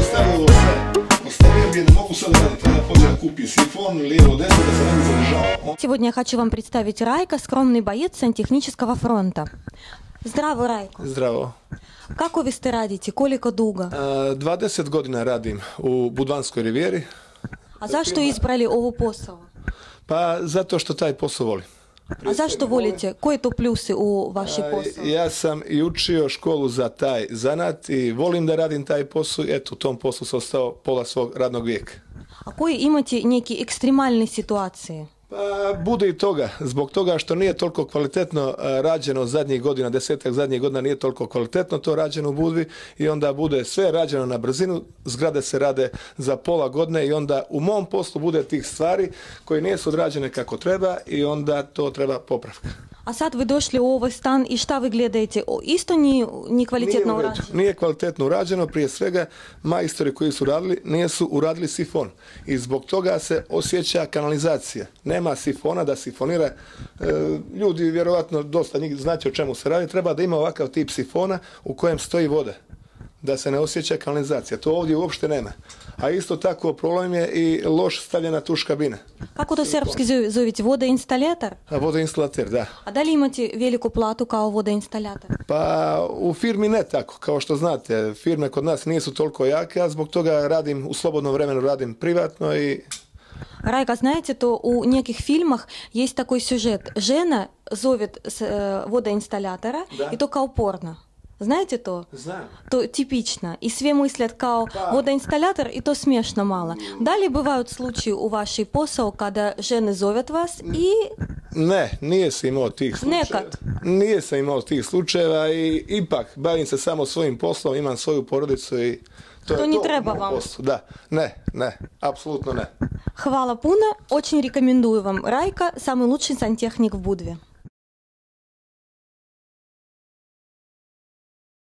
stavio ovo sve. Ostavio bi, ne mogu sad raditi, treba pođe da kupi sifon, lijevo, desno, da se ne bi zadržao. Сегодня я хочу вам представить Райка, скромный боец сантехнического фронта. Здраво, Райко. Zdravo. Kako vi ste radite? Koliko dugo? 20 godina radim u Budvanskoj rivijeri. A zašto izbrali ovu posao? Pa zato što taj posao volim. A zašto volite? Koji to plusi u vaši posao? Ja sam i učio školu za taj zanat i volim da radim taj posao i eto u tom poslu sam ostao pola svog radnog vijeka. A koji imate neki ekstremalne situacije? Pa bude i toga, zbog toga što nije toliko kvalitetno rađeno zadnjih godina, 10-ak zadnjih godina nije toliko kvalitetno to rađeno u Budvi i onda bude sve rađeno na brzinu, zgrade se rade za pola godine i onda u mom poslu bude tih stvari koje nisu odrađene kako treba i onda to treba popravka. A sad vi došli u ovaj stan i šta vi gledajte? Isto nije kvalitetno urađeno? Nije kvalitetno urađeno, prije svega majstori koji su radili nisu uradili sifon i zbog toga se osjeća kanalizacija. Nema sifona da sifonira, ljudi vjerovatno dosta njih znate o čemu se radi, treba da ima ovakav tip sifona u kojem stoji voda, da se ne osjeća kanalizacija. To ovdje uopšte nema. A isto tako problem je i loš stavljena tuš kabina. Kako to srpski zovete? Vodoinstalator? Vodoinstalater, da. A da li imate veliku platu kao vodoinstalator? Pa u firmi ne tako, kao što znate. Firme kod nas nisu toliko jake, a zbog toga radim, u slobodnom vremenu radim privatno i... Райка, знаете, то у неких фильмах есть такой сюжет. Жена зовет водоинсталлятора, да. И то као порно. Знаете то? Знаю. То типично. И все мыслят као водоинсталлятор, и то смешно мало. Далее бывают случаи у вашей посол, когда жены зовят вас и... Ne, nije se imao tih slučajeva. Nekad. Nije se imao tih slučajeva i ipak bavim se samo svojim poslom, imam svoju porodicu i... To не треба вам. Да, не, абсолютно не. Хвала пуна, очень рекомендую вам Райка, самый лучший сантехник в Будве.